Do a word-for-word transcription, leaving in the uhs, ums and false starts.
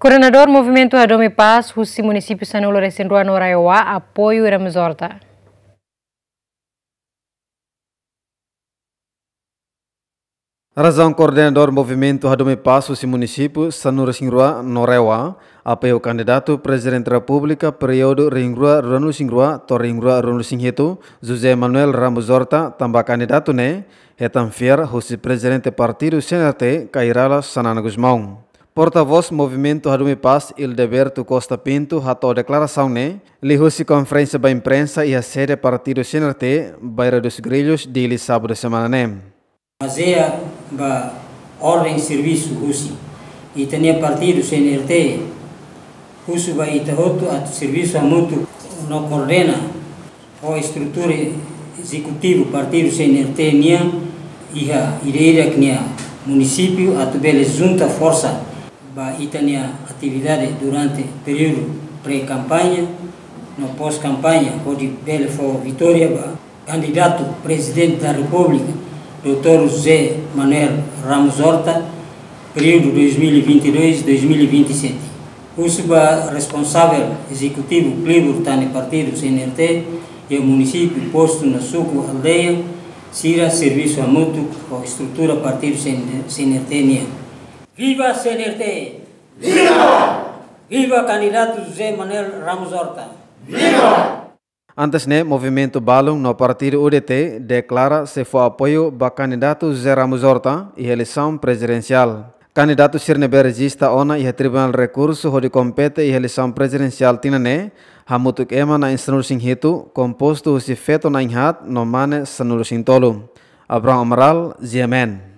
Koordenadór Movimentu Hadomi Pás husi munisípiu sanulu-resin-rua no RAEOA apoiu Ramos Horta. Razaun koordenadór Movimentu Hadomi Pás husi munisípiu sanulu-resin-rua no RAEOA apoiu kandidatu Prezidente Repúblika períodu rihun rua ruanulu-resin-rua to'o rihun rua ruanulu-resin-hitu, José Manuel Ramos Horta, tanba kandidatu ne'e hetan fiar husi Prezidente Partidu C N R T, Kay Rala Xanana Gusmão. Portavós Movimentu Hadomi Pás, Hildeberto Costa Pinto, hato'o deklarasaun ne'e liuhusi konferénsia ba imprensa iha sede Partidu C N R T, Bairro dos Grillos, Dili, sábadu semana ne'e. Bazeia ba orden servisu husi ita-nia partidu C N R T, husu ba ita hotu atu servisu hamutuk no koordena ho estrutura ezekutivu partidu C N R T nian iha ida-idak nia munisípiu atu bele junta forsa ba ita-nia atividade durante períodu pré-kampaña no pós-kampaña, hodi bele fó vitória ba kandidatu Prezidente da Repúblika, doutór José Manuel Ramos Horta, períodu dois mil e vinte e dois, dois mil e vinte e sete. Husu ba responsavel ezekutivu klibur tan ne'e partidu C N R T, iha munisípiu, postu no suku, aldeia, sira servisu hamutuk ho estrutura partidu C N R T nian. Viva C N R T! Viva! Viva kandidatu José Manuel Ramos Horta! Viva! Antes ne'e, movimentu balun no partidu U D T deklara sei fó apoiu ba kandidatu José Ramos Horta iha eleisaun prezidensiál. Kandidatu sira ne'ebé rejista ona iha Tribunál Rekursu hodi kompete iha eleisaun prezidensiál tinan ne'e, hamutuk ema na'in sanulu-resin-hitu, kompostu husi feto na'in haat no mane sanulu-resin-tolu. Abraham Amaral, G M N.